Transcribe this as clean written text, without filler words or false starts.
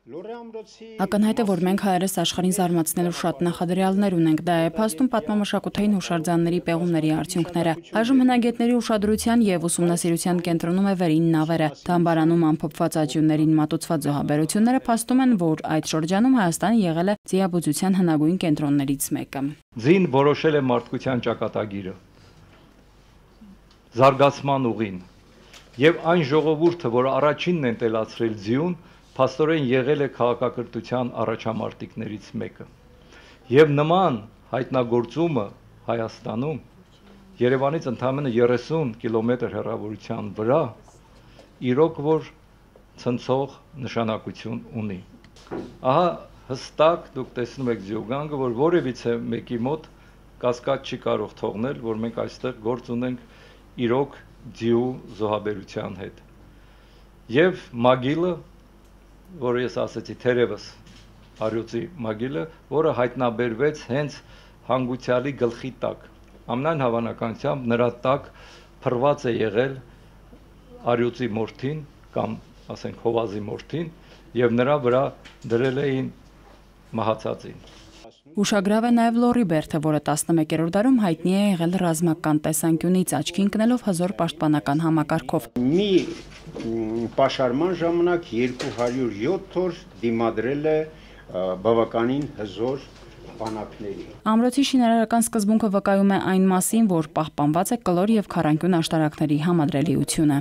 Ակնհայտ է, որ մենք հայերս աշխարհին զարմացնելու շատ նախադրյալներ ունենք, դա է փաստում պատմամշակութային հուշարձանների պեղումների արդյունքները։ Այժմ հնագետների ուշադրության եւ ուսումնասիրության կենտրոնում է վերին նավերը։ Թամբարանում ամփոփված աճյուններին մատուցված զոհաբերությունները փաստում են, որ այդ շրջանում Հայաստանը եղել է ձիաբուծության հնագույն կենտրոններից մեկը։ Ձին որոշել է մարդկության ճակատագիրը, զարգացման ուղին, եւ այն ժողովուրդը, որ առաջինն են տելացրել ձիուն, փաստորեն եղել է քաղաքակրթության առաջամարտիկներից մեկը։ Եվ նման հայտնագործումը Հայաստանում Երևանից ընդամենը 30 կիլոմետր հեռավորության վրա իրոք որ ցնցող նշանակություն ունի։ Ահա հստակ դուք տեսնում եք ձիուգանգը, որ որևիցե մեկի մոտ կասկած չի կարող թողնել, որ մենք այստեղ գործ ունենք իրոք ձիու զոհաբերության հետ։ Եվ մագիլը, որը ես ասացի թերևս Արյուծի մագիլը, որը հայտնաբերվեց հենց հանգուցյալի գլխի տակ, ամենայն հավանականությամբ նրա տակ փռված է եղել Արյուծի մորթին կամ ասենք Հովազի մորթին եւ նրա վրա դրել էին մահացածին։ Ուշագրավ է նաև Լորի Բերթը, որը 11-րդ դարում հայտնի է եղել ռազմական տեսանկյունից, աչքի ընկնելով հզոր պաշտպանական համակարգով։ Մի պաշարման ժամանակ 207 օր դիմադրել է բավականին հզոր բանակների։ Ամրոցի շինարարական սկզբունքը վկայում է այն մասին, որ պահպանված է կլոր եւ քառանկյուն աշտարակների համադրելիությունը։